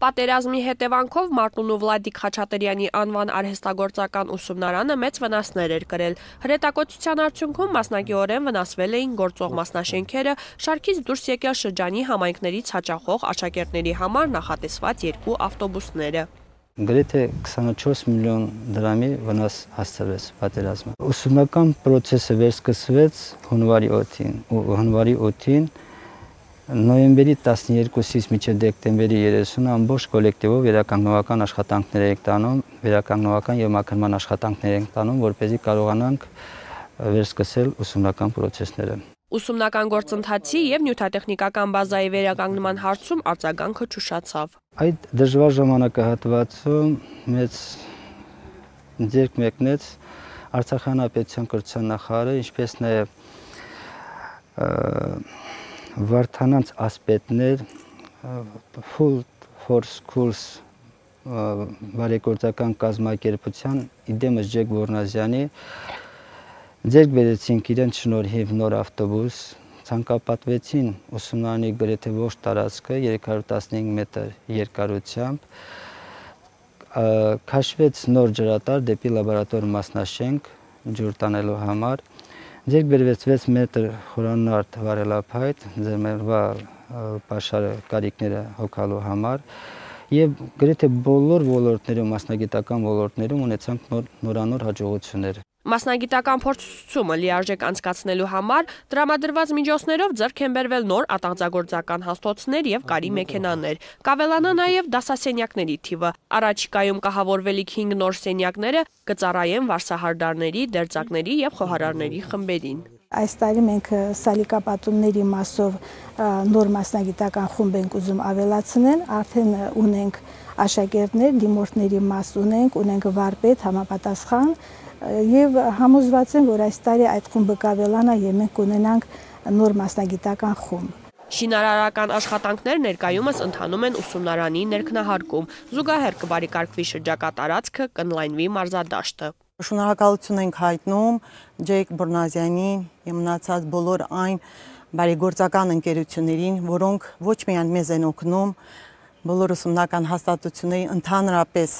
Պատերազմի հետևանքով Մարտուն ու Վլադիկ Խաչատրյանի անվան արհեստագործական ուսումնարանը մեծ վնասներ էր կրել։ Հրետակոծության արդյունքում մասնակիորեն վնասվել էին գործող մասնաշենքերը, շարքից դուրս եկել շրջանի համայնքներից հաճախող աշակերտների համար նախատեսված 2 ավտոբուսները։ Գրեթե 24 միլիոն դրամի վնաս հասցրեց պատերազմը։ Ուսումնական process-ը վերսկսվեց հունվարի 8-ին, նոյեմբերի 12-ից մինչև դեկտեմբերի 30-ը ամբողջ կոլեկտիվով վերականգնողական աշխատանքներ ենք տանում, վերականգնողական եւ մաքրման աշխատանքներ ենք տանում, որպեսզի կարողանանք վերսկսել ուսումնական process-ները։ Ուսումնական գործընթացի եւ նյութատեխնիկական բազայի վերականգնման հարցում արձագանքը ճուշացավ։ Այդ դժվար ժամանակահատվածում մեծ ձեռք մեկնեց Արցախյան հանրապետության կրթության նախարարը, ինչպես նաեւ Վարդանանց ասպետներ, Full for Schools բարեգործական կազմակերպության իդեմս Ջեկ Որնազյանի ձեռք բերեցինք իրենց շնորհիվ նոր ավտոբուս, ցանկապատվեցին ուսումնարանի գրեթե ողջ տարածքը 315 մետր երկարությամբ, քաշվեց նոր ջրատար դեպի լաբորատոր մասնաշենք ջուր տանելու համար, ձեռք բերվեց 6 մետր խորանարդ վարելափայտ ձեռներվա պաշարը կարիքները հոգալու համար եւ գրեթե բոլոր ոլորտներում, մասնագիտական ոլորտներում ունեցանք նորանոր հաջողություններ։ Մասնագիտական փորձությունը լիարժեք անցկացնելու համար տրամադրված միջոցներով ձեռք են բերվել նոր ատաղձագործական հաստոցներ եւ կարի մեքենաներ։ Կավելանա նաեւ դասասենյակների թիվը։ Առաջիկայում կահավորվելիք 5 նոր սենյակները կծառայեն վարսահարդարների, դերձակների եւ խոհարարների խմբերին։ Այս տարի մենք սալիկապատումների մասով նոր մասնագիտական խումբ ենք ուզում ավելացնել, արդեն ունենք աշակերտներ, դիմորդների մաս ունենք վարպետ, համապատասխան եւ համոզված եմ, որ այս տարի այդ խումբը կավելանա եւ մենք կունենանք նոր մասնագիտական խումբ։ Շինարարական աշխատանքներ ներկայումս ընթանում են ուսումնարանի ներքնահարկում, զուգահեռ կբարեկարգվի շրջակա տարածքը, կընդլայնվի մարզադաշտը։ Շնորհակալություն ենք հայտնում Ջեկ Բորնազյանին եւ մնացած բոլոր այն բարեգործական ընկերություններին, որոնք ոչ միայն մեզ են օգնում, բոլոր ուսումնական հաստատությունների ընդհանրապես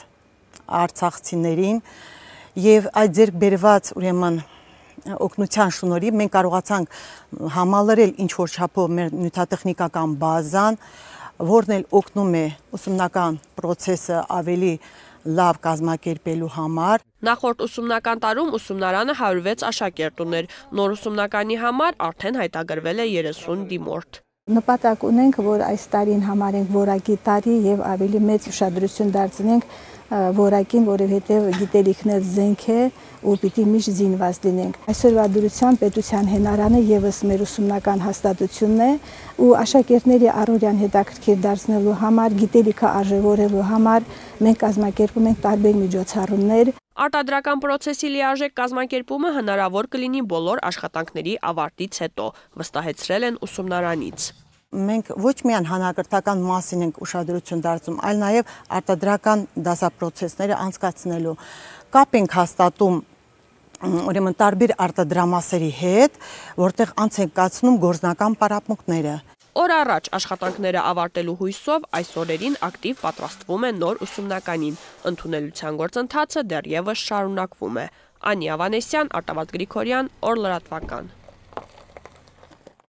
արցախցիներին եւ այդ ձեռք բերված ուրեմն օգնության շնորհիվ մենք կարողացանք համալրել ինչ որ չափով մեր նյութատեխնիկական բազան, որն էլ օգնում է ուսումնական process-ը ավելի լավ կազմակերպելու համար։ Նախորդ ուսումնական տարում ուսումնարանը 106 աշակերտ ուներ, նոր ուսումնականի համար արդեն հայտագրվել է 30 դիմորդ։ Նպատակ ունենք, որ այս տարին համարենք որակի տարի եւ ավելի մեծ ուշադրություն դարձնենք որակին, որովհետեւ գիտելիքներ զենք է ու պիտի միշտ զինված լինենք։ Այսօրվա դրությամբ պետության հենարանը եւս մեր ուսումնական հաստատությունն է ու աշակերտների առօրյան հետաքրքիր դարձնելու համար, գիտելիքը արժևորելու համար մենք կազմակերպում ենք տարբեր միջոցառումներ։ Արտադրական process-ի լիարժեք կազմակերպումը հնարավոր կլինի բոլոր աշխատանքների ավարտից հետո, վստահեցրել են ուսումնարանից։ Մենք ոչ միայն հանրակրթական մասին ենք ուշադրություն դարձնում, այլ նաև արտադրական դասապրոցեսները անցկացնելու։ Կապ ենք հաստատում ուրեմն տարբեր արտադրամասերի հետ, որտեղ անց են կացնում գործնական պարապմունքները։ Օր առաջ աշխատանքները ավարտելու հույսով այս օրերին ակտիվ պատրաստվում են նոր ուսումնականին։ Ընդունելության գործընթացը դեռևս շարունակվում է։ Անի Ավանեսյան, Արտավազդ Գրիգորյան, Օր լրատվական։